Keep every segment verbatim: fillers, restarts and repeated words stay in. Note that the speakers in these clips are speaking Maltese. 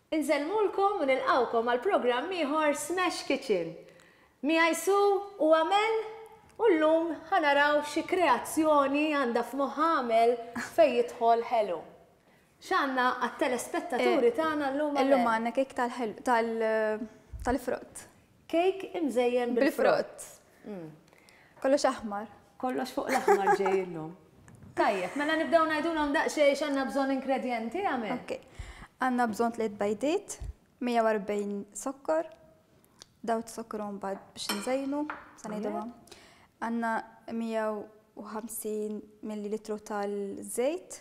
Insellmulkom u nilqgħukom għal programm ieħor Smash Kitchen. Miegħi Su u Amel u llum ħa naraw xi kreazzjoni għandha f'moħħha Amel fejn jidħol ħelu. X'għandna għat-telespettaturi tagħna llum? Illum għandna kejk tal-ħelu tal-frott. Kejk imżejjen bil-frott. Kollox aħmar. Kollox fuq l-aħmar ġej illum. Tajjeb, mela nibdew ngħidulhom daqsxejn x'għandna bżonn ingredjenti Amel. Ok. Għandna bżonn tliet bajdiet, mija u erbgħin sokkor, dawt sokkor mbagħad biex nżejnu, sa ngħidulhom. Għandna mija u ħamsin millilitru tal-żejt,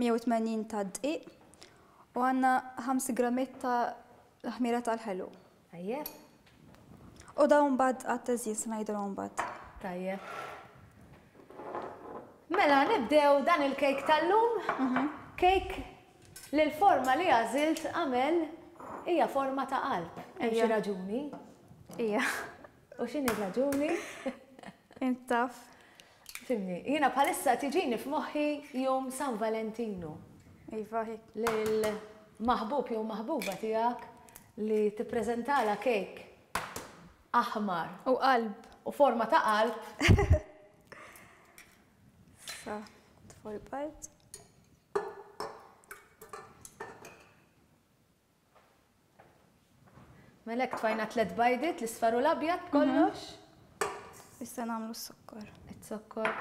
mija u tmenin ta' dqiq, u għandna ħames grammiet ta' l-ħmira tal-ħelu. Tajjeb. U dawn mbagħad għat-teżjin se ngħidulhom mbagħad. Tajjeb. Mela nibdew dan il-kejk tal-lum. Kejk li l-forma li għażilt Amel hija forma ta' qalb. Hemm xi raġuni? Ija. U x'inhi r-raġuni? Int taf. Fimni, jiena bħalissa tiġini f'moħħi jum San Valentino. Iva, hekk. Lil maħbub jew maħbuba tiegħek li tippreżentala kejk aħmar. U qalb. U forma ta' qalb. Sa, tfol bajt. Melek tfajna tliet bajdiet, l-isfar u l-abjad kollox. Issa nagħmlu s-sokkor. Is-sokkor.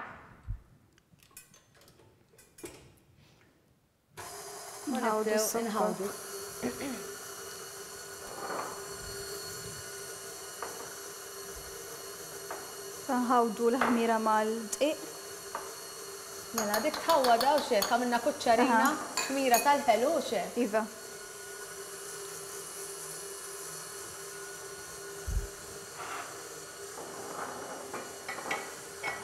Nħawdu s-sokkor. Nħawdu. Nħawdu l-ħmira mal-dqiq. Mela, dik tħawwada u xek, għamilna kuċċarina, ħmira tal-ħelu u xek. Iva.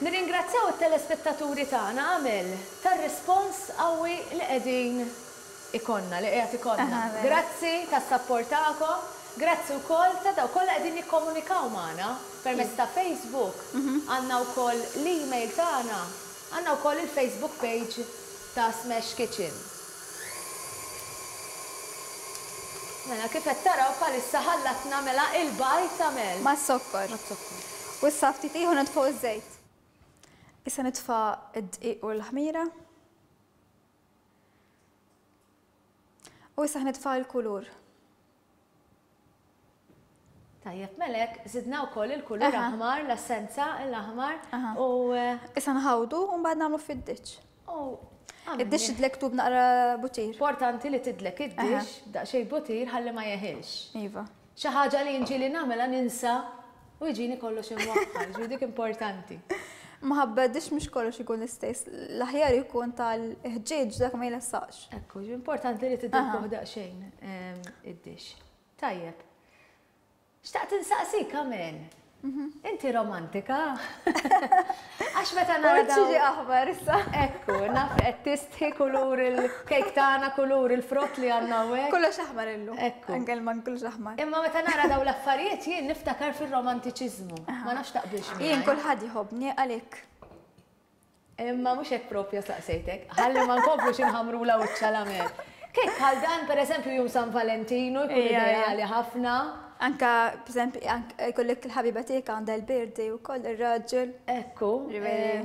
Nirringrazzjaw it-telespettaturi tagħna Amel tar-rispons qawwi li qegħdin ikonna, li qiegħed ikonna. Grazzi tas-sapport tagħkom, grazzi wkoll ta' dawk kollha qegħdin jikkomunikaw magħna permezz ta' Facebook. Għandna wkoll l-email tagħna, għandna wkoll il-Facebook page ta' Smash Kitchen. Mela kif qed taraw bħalissa ħallatna mela il-bajt Amel. Mas-sokkor. Mas-sokkor. U issa ftit ieħor nitfgħu iż-żejt. Issa nitfa' d-dqiq u l-ħmira. U issa nitfa' l-kulur. Tajjeb, melek, zidna wkoll il-kulur aħmar, l-essenza l-aħmar. U issa nħawdu u mbagħad nagħmlu fid-diċ. Id-dix tidlek tub naqra butir. Importanti li tidlek id-dix daqsxejn butir ħalli ma jeħilx. Iva. Xi ħaġa li nġieli nagħmilha ninsa u jiġini kollox imwaħħal, ġifieri dik importanti. Maħabba d-dix mhux kollox ikun l-istess, l-aħjar ikun tal-ħġieġ dak ma jlessax. Ekku, importanti li tidilkuh daqsxejn id-dix. Tajjeb. Xtaqt insaqsik, Amel. Inti romantika? Għax meta nara dawn. Ġiġi aħmar issa. Ekku, naf qed tistħi kulur il-kejk tagħna, kulur il-frott li għandna hawnhekk. Kollox aħmar illum. Ekku. Anke l-man kollox aħmar. Imma meta nara dawn l-affarijiet jien niftakar fir-romantiċiżmu. Ma nafx taqbilx miegħi. Jien kulħadd jħobbni għalhekk. Imma mhux hekk propja saqsejtek. Ħalli ma nkomplux inħamrula wiċċha l-Amel. Kejk bħal dan pereżempju jum San Valentino jkun ideali ħafna. Anka, per esempio, jkollek il-ħabiba tiegħek għandha l-birthday wkoll ir-raġel. Ekku,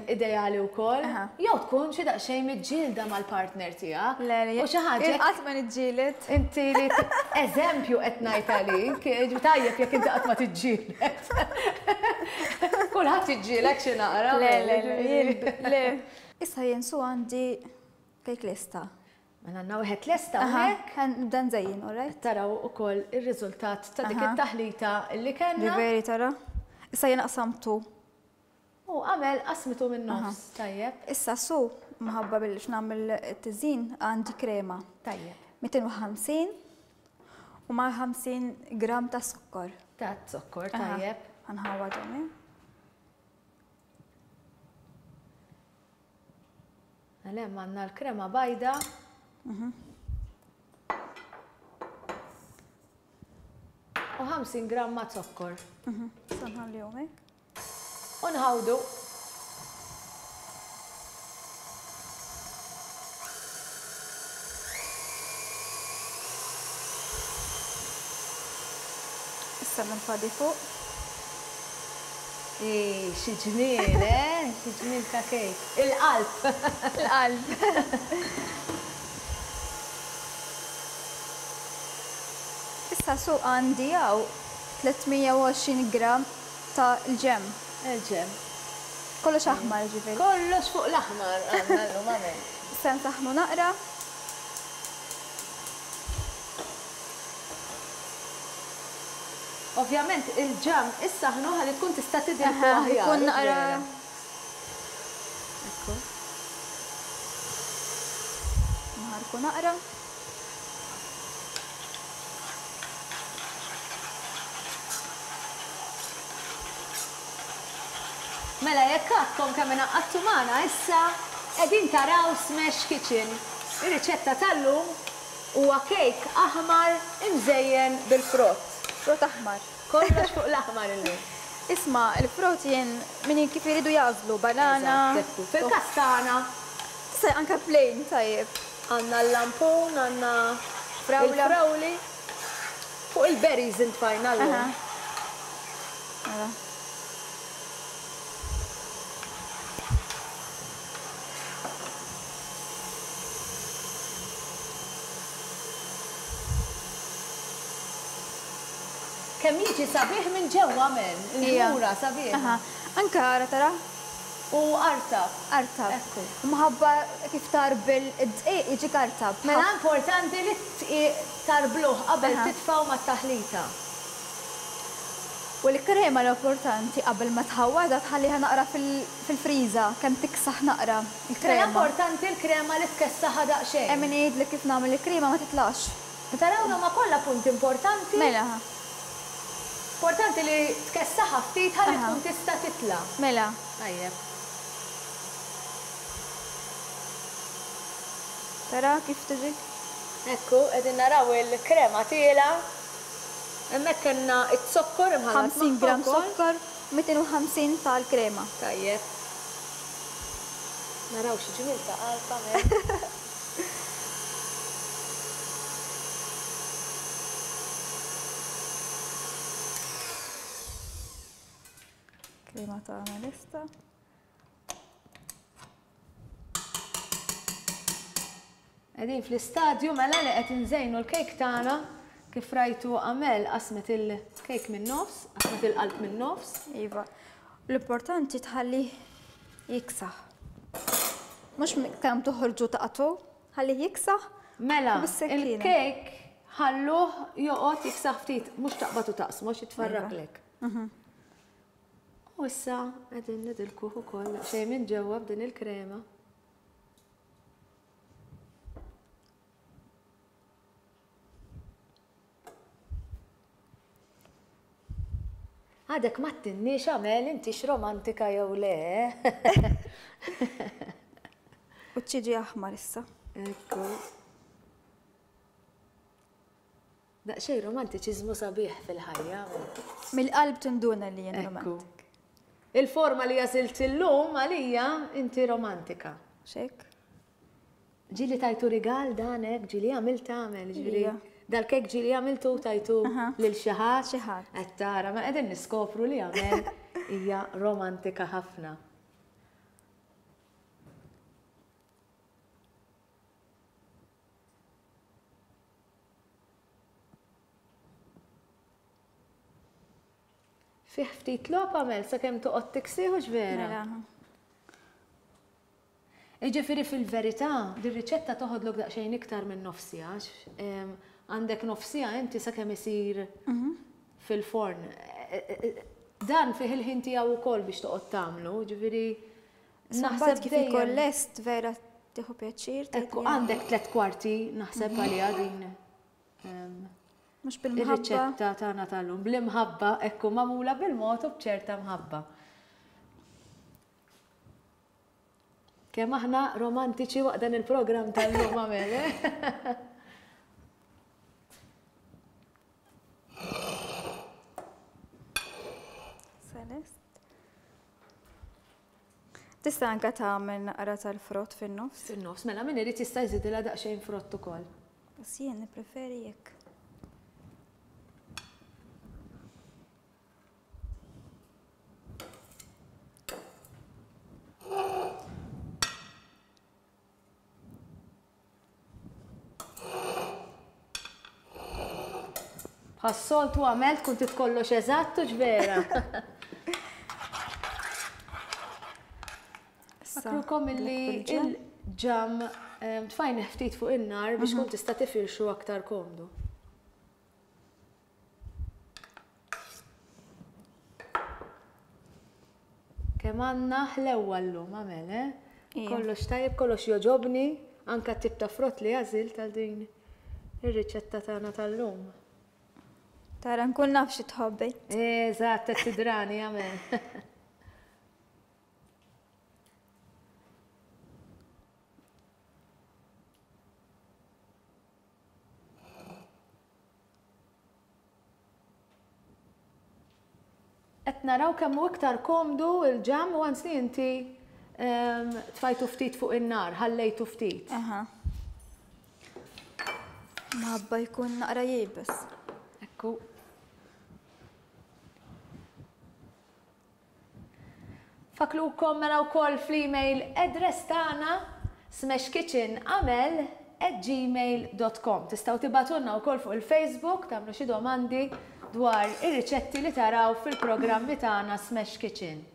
ideali wkoll. Jew tkun xi daqsxejn miġġielda mal-partner tiegħek. Le, le, U xi ħaġa. Qatt ma niġġieled. Inti li eżempju qed ngħid għalik, tajjeb jekk inti qatt ma tiġġieled. Kulħadd jiġġielek xi naqra. Le, le, le, le. Issa jien su għandi kejk lesta. Mela għandna wieħed lesta hawnhekk. Nibda nżejjin, all right? Taraw ukoll ir-riżultat ta' dik it-taħlita li kellna. Veri tara. Issa jien qsamtu. U Amel qasmitu min-nofs, tajjeb. Issa su minħabba biex nagħmel it-tiżin għandi krema. Tajjeb. mitin u ħamsin u ma' ħamsin gram ta' sokkor. Ta' zokkor, tajjeb. Ħanħawadhom, eh? Mela hemm għandna l-krema bajda. U ħamsin gramma zokkor. Sanħallihom hekk. U nħawdu. Issa nfadi fuq. Ej, xi ġmiel, eh? Xi ġmiel ta' kejk. Il-qalb. Il-qalb. Issa su għandi hawn tliet mija u għoxrin gram ta' l-ġem. Il-ġem. Kollox aħmar ġifieri. Kollox fuq l-aħmar għandna llum għamel. Issa nsaħħnu naqra. Ovvjament il-ġam issaħnu ħalli tkun tista' tidilku aħjar. Ikun naqra. Ekku. Nħarku naqra. Mela jekk għadkom kemm ingħaqadtu magħna issa qegħdin taraw Smash Kitchen. Ir-riċetta tal-lum huwa kejk aħmar imżejjen bil-frott. Frott aħmar. Kollox fuq l-aħmar illum. Isma', il-frott jien min kif iridu jagħżlu, banana. Eżatt, fil-każ tagħna. Tista' anke plain tajjeb. Għandna l-lampun, għandna Frawla. il-frawli. Fuq il-berries intfajna llum. Aha. Kemm jiġi sabiħ minn ġewwa men, il-ħmura sabiħ. Aha. Anka ara tara. U artab. Artab. Ekku. Mħabba kif tarbel id-dqiq jiġi artab. Mela importanti li t-dqiq tarbluh qabel Aha. titfgħu mat-taħlita. U l-krema l-importanti qabel ma tħawwadha tħalliha naqra fil-, fil-friża, kemm tiksaħ naqra il-krema. Mela importanti l-krema li tkessaħha daqsxejn. Hemm min jgħidlek kif nagħmel il-krema ma titlax. Tarawna ma kollha punt importanti. Mela. Importanti li tkessaħha ftit ħalli Aha. tkun tista' titla'. Mela. Tajjeb. Tara kif tiġi? Ekku, qegħdin naraw il-krema tiela. Hemmhekk kellna z-zokkor imħallat ħamsin magħha gram wkoll. zokkor, mitin u ħamsin tal-krema. Tajjeb. Naraw xi ġmiel ta' qalb għamel. Krema tagħna lesta. Qegħdin fl-istadju mela li qed inżejnu l-kejk tagħna. Kif rajtu Amel qasmet il-kejk minn nofs, qasmet il-qalb minn nofs. Iva. L-importanti tħalli jiksaħ. Mhux kemm toħorġu taqtu, ħalli jiksaħ. Mela, u bis-sekkina. il-kejk ħalluh joqgħod jiksaħ ftit, mhux taqbad u taqsmu għax jitfarraklek. Mhm. U issa qegħdin nidilkuh ukoll xejn minn ġewwa b'din il-krema. Għadek ma tinniex Amel intix romantika jew le. U ċiġi aħmar issa. Ekku. Daqsxejn romantiċiżmu sabiħ fil-ħajja. Mill-qalb tinduna li jien Ekku. romantik. Il-forma li għażilt illum għalija inti romantika. Xek? Ġieli tajtu rigal dan hekk, ġieli għamilt tagħmel, ġieli. Ija. Dal-kek ġieli għamiltu tajtu Aha. lil xi ħadd. Xi ħadd. Qed tara, ma qegħdin niskopru li għamel hija romantika ħafna. Fih ftit logħob għamel sakemm toqgħod tiksieħu x'vera. Mela. Jiġifieri fil-verità, dir-riċetta toħodlok daqsxejn iktar minn nofsija, għax, em, għandek nofsija inti sakemm isir Mhm. fil-forn. E, e, e, Dan fih il-ħin tiegħu wkoll biex toqgħod tagħmlu, ġifieri Naħseb kif dejjem ikun lest vera tieħu pjaċir. tgħid Ekku, li għandek tliet kwarti naħseb għaliha din, em, Mhux bil-mħabba. ir-riċetta tagħna tal-lum. Bl-imħabba, ekku magħmula bil-mod u b'ċerta mħabba. Kemm aħna romantiċi waqt dan il-programm tal-lum għamel, eh? Celest. Tista' anke tagħmel naqra tal-frott fin-nofs. Fin-nofs, mela min irid jista' jżidilha daqsxejn frott ukoll. Bas jien nippreferi jekk. Bħas-soltu għamilt kun titkollox eżatt u ġvera. Fakrukom illi il-ġam tfajn ftit fuq in-nar biex kun tista' tifirxu aktar komdu. Kemm għandna ħlewwa llum għamel, eh? Kollox tajjeb, kollox joġobni, anka tip ta' frott li għażilt għal din ir-riċetta tagħna tal-lum. Tara nkun naf xi tħobbi. Eżatt, qed tidrani għamel. Qed naraw kemm hu iktar komdu il-ġam u għans li inti tfajtu ftit fuq in-nar, ħallejtu ftit. Aha. Mħabba jkun naqra jibes. Ekku. Faklukom mela wkoll fl-email address tagħna smashkitchenamel at gmail dot com. Tistgħu tibgħatulna wkoll fuq il-Facebook, tagħmlu xi domandi dwar ir-riċetti li taraw fil-programmi tagħna Smash Kitchen.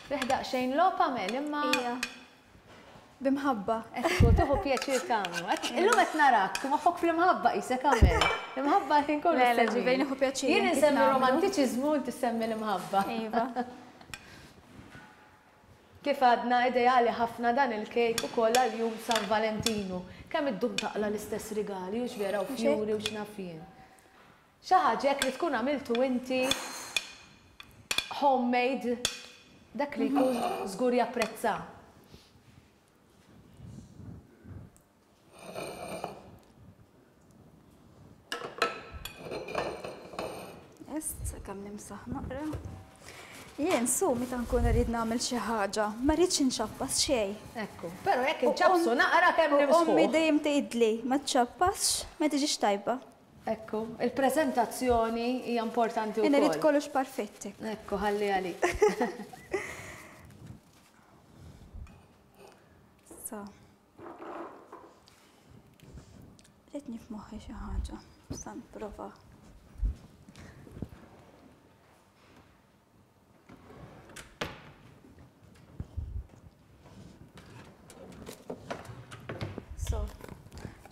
Fiħdaq xejn logħob għamel imma. Ija. Bimħabba. Ekku, tieħu pjaċir tagħmlu. Illum qed narak, moħħok fl-imħabba qisek għamel. L-imħabba ħin kollu. Le, le, ġivejn nieħu pjaċir. Jien insemmi romantiċiżmu inti semmi l-imħabba. Iva. Kif għadna ideali ħafna dan il-kejk ukoll għal jum San Valentinu. Kemm iddum taqla l-istess rigali u x'vera u fjuri u x'naf jien. Xi ħaġa hekk li tkun għamiltu inti homemade, dak li jkun żgur japprezza. Est, kemm nimsaħ naqra. Jien su meta nkun rrid nagħmel xi ħaġa, ma rridx inċappas xejn. Ekku, però jekk inċappsu naqra kemm nimsħu. Ommi dejjem tgħidli ma tċappasx, ma tiġix tajba. Ekku, il-preżentazzjoni hija importanti wkoll. Jien irid kollox perfetti. Ekku, ħalli għalik. So. Ridni f'moħħi xi ħaġa, sa nipprova.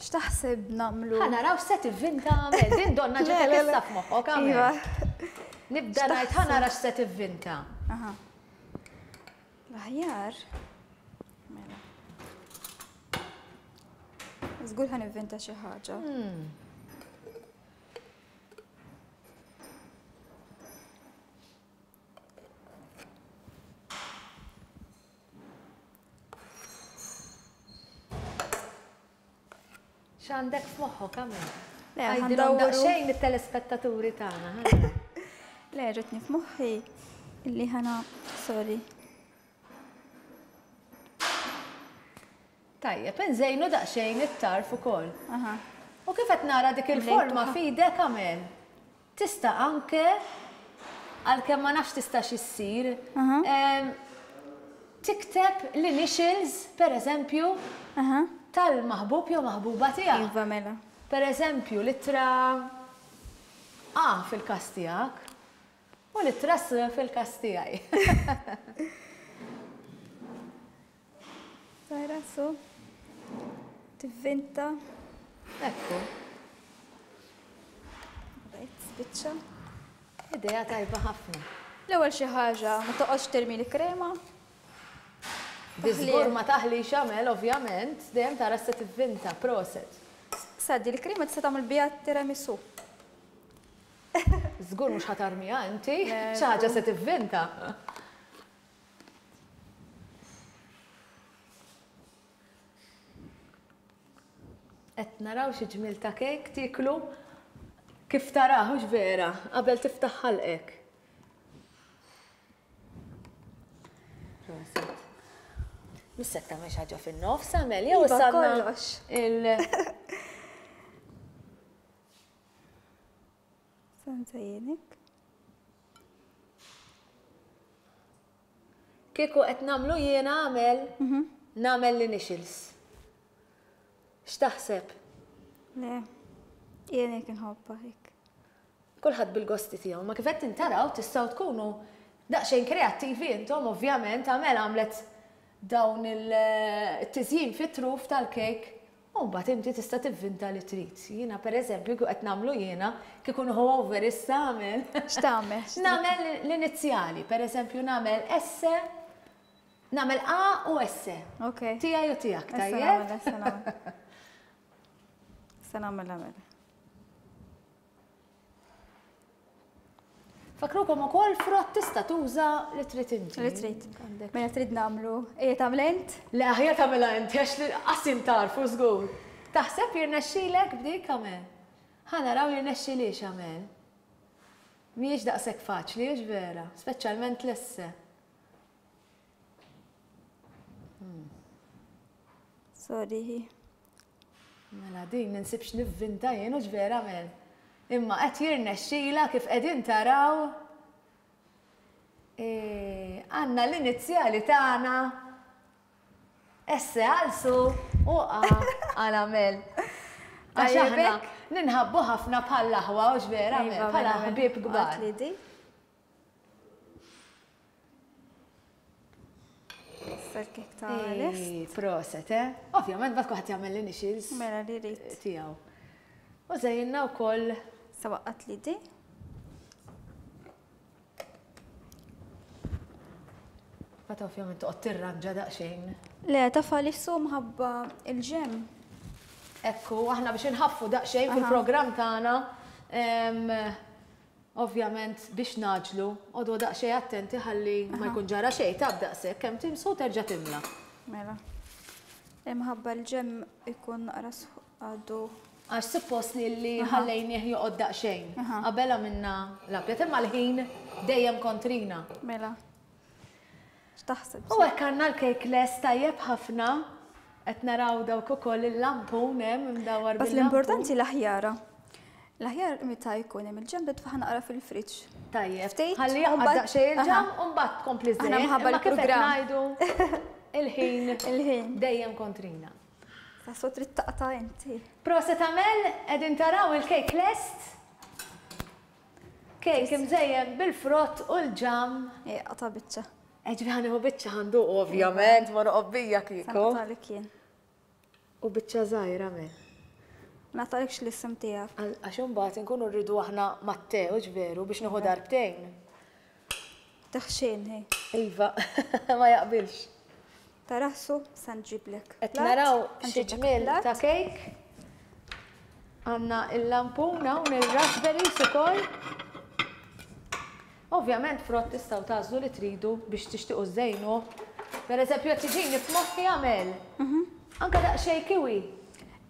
X'taħseb nagħmlu? Ħa naraw x'se tivvinta għamel. Din donna ġetek issa f'moħħok għamel. Nibda ngħid ħa nara x'se tivvinta. Aha. L-aħjar. Mela. Żgur ħa nivvinta xi ħaġa. X'għandek f'moħħok għamel? Għajdilhom daqsxejn it-telespettaturi tagħna. Le, ġetni f'moħħi illi ħana, sorry. Tajjeb, inżejnu daqsxejn it-tarf ukoll. U kif qed nara dik il-forma f'idek għamel? Tista' anke, għalkemm ma nafx tistax issir, tikteb l-initials, per eżempju, tal-maħbub jew maħbuba tiegħek. Iva mela. Per eżempju, l-ittra A fil-każ tiegħek u l-ittra S fil-każ tiegħi. Tara su tivvinta. Ekku. Rajt spiċċa. Idea tajba ħafna. L-ewwel xi ħaġa ma toqgħodx termi l-krema. Biżgur ma taħlix għamel, ovvjament, dejjem tara se tivvinta, proset. Saddi, l-krema tista' tagħmel biha tiramisu. Żgur mhux ħatarmiha inti, xi ħaġa se tivvinta. Qed naraw xi ġmiel ta' kejk tieklu Kif taraħ, hux vera, qabel tiftaħ ħalqek. Proset. Missek tagħmel xi ħaġa fin-nofs, Amel, jew Iva, issa għandna kollox. il Sa nżejjenek. Kieku qed nagħmlu jiena Amel, nagħmel l-initials. X'taħseb? Le, jien hekk inħobbha hekk. Kulħadd bil-gosti tiegħu, ma kif qed tintaraw tistgħu tkunu daqsxejn kreattivi intom, ovvjament, Amel għamlet dawn il-tiżjin fit-truf tal-kejk, u mbagħad inti tista' tivvinta li trid. Jiena pereżempju kieku qed nagħmlu jiena, kieku nieħu over issa Amel. X'tagħmel? Nagħmel l-inizjali, pereżempju nagħmel S, nagħmel A u S. Ok. Tiegħi u tiegħek, Issa tajjeb? nagħmel, issa nagħmel. Issa nagħmel nagħmel. Fakrukom ukoll frott tista' tuża li trid inti. Li trid. Għandek. Mela trid nagħmlu. Ejja tagħmel int? Le aħjar tagħmilha inti għax li qasim tarfu żgur. Taħseb jirnexxilek b'dik Amel? Ħa naraw jirnexxilix Amel. Mhijiex daqshekk faċli, hux vera, speċjalment l-esse. Sorry. Mela din ninsibx nivvinta jien, hux vera Amel. Imma qed jirnexxila kif qegħdin taraw. E, għandna l-inizjali tagħna S għal Su u A għal Amel. Għax Tajjeb aħna hekk? ninħabbu ħafna bħal aħwa, hux vera Amel, Iva, bħala mela, mela. ħbieb kbar. Għat li di. Issa l-kek ta' lest. Ej, proset, eh? Ovvjament, bat kulħadd jagħmel l-initials Mela li rrid. tiegħu. U żejjinna wkoll Sa waqqat li di. Bat ovvjament toqgħod tirranġa daqsxejn. Le, tafa li su mħabba il-ġem. Ekku, aħna biex inħaffu daqsxejn fil-programm tagħna, em, ovvjament biex naġlu, għodu daqsxejn attenti ħalli ma jkun ġara xejn, tab daqshekk kemm timsu terġa' timla. Mela. Imħabba l-ġem ikun naqra għadu. Għax suppost li li ħallejnieh joqgħod daqsxejn. Qabel għamilna l-abjad, imma l-ħin dejjem kontrina. Mela. X'taħseb? U hekk għandna l-kejk lest tajjeb ħafna. Qed naraw dawk ukoll il-lampun hemm imdawwar Bas bil-lampun. l-importanti l-aħjara. L-aħjar meta jkun hemm il-ġem titfaħ naqra fil-friġġ. Tajjeb. Ftit, Ħalli u jaqgħad mbagħad- daqsxejn il-ġam Aha. u mbagħad tkompli Aħna żejjed. mħabba Imma kif qed l-programm. ngħidu il-ħin Il-ħin. dejjem kontrina. Sa so trid taqta' inti. Proset Amel, qegħdin taraw il-kejk lest. Kejk imżejjen bil-frott u l-ġam. Ej, qata' biċċa. Eġbi ħanieħu biċċa ħanduq ovvjament, ma noqgħod bija kieku. Naqtalek jien. U biċċa żgħira Amel. Naqtalekx l-isem tiegħek. Għal-, għax imbagħad inkunu rridu aħna mat-te, hux veru, biex nieħu darbtejn. Taħxin, hej. Iva, ma jaqbilx. Taraħsu, sa nġiblek. Qed Plat, naraw sa xi nġiblek ġmiel plat. ta' kejk. Għandna il-lampun hawn il-raspberries ukoll. Ovvjament frott tistgħu tagħżlu li tridu biex tixtiequ żejnu. Per eżempju, qed tiġini f'moħħi Amel. Mhm. Anke daqsxejn kiwi.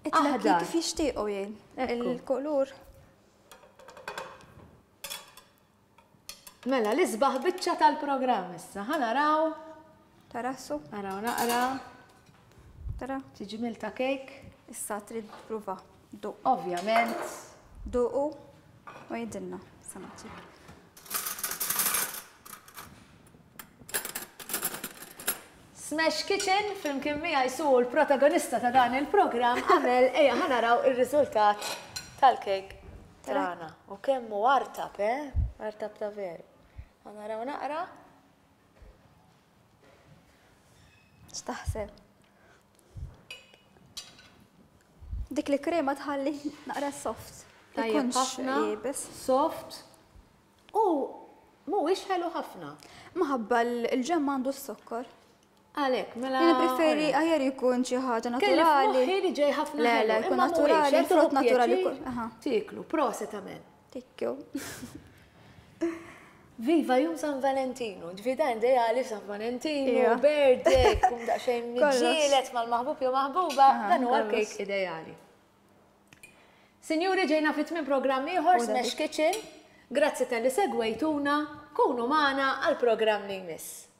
Qed nagħti Aħdar. kif jixtiequ jien. Ekku. Il-kulur. Mela, l-isbaħ biċċa tal-programm issa. Ħa naraw. Taraħsu? Naraw naqra. Tara? Xi ġmiel ta' kejk. Issa trid prova. Duq. Ovvjament. Duqu u jidilna. Sa nagħtik. Smash Kitchen flimkien miegħi Su l-protagonista ta' dan il-programm Amel, ejja ħa naraw ir-riżultat tal-kejk tagħna. U kemm hu artab, eh? Artab ta' veru. Ħa naraw naqra. X'taħseb? Dik li krema tħalli naqra soft. Tajjeb Ikunx ħafna, iebes. soft. U mhuwiex ħelu ħafna. Maħabba l-ġemm għandu s-sokkor. Għalhekk, mela Jien preferi aħjar jkun xi ħaġa Kelli naturali. f'moħħi li ġej ħafna Le, ħelu, le, jkun imma mhuwiex, naturali, qed frott tieħu naturali pjaċir jkun, aha. Tiklu, proset Amel. Thank you. Viva Jum San Valentino, ġvida ideali San Valentino, Ija. birthday, kum daqsxejn Kollox. miġġielet mal-maħbub jew maħbuba, Aha, dan huwa kollox. l-kejk ideali. Sinjuri, ġejna fi tmiem programm ieħor U Smash Kitchen. Grazzi talli segwejtuna, kunu magħna għal programm li jmiss.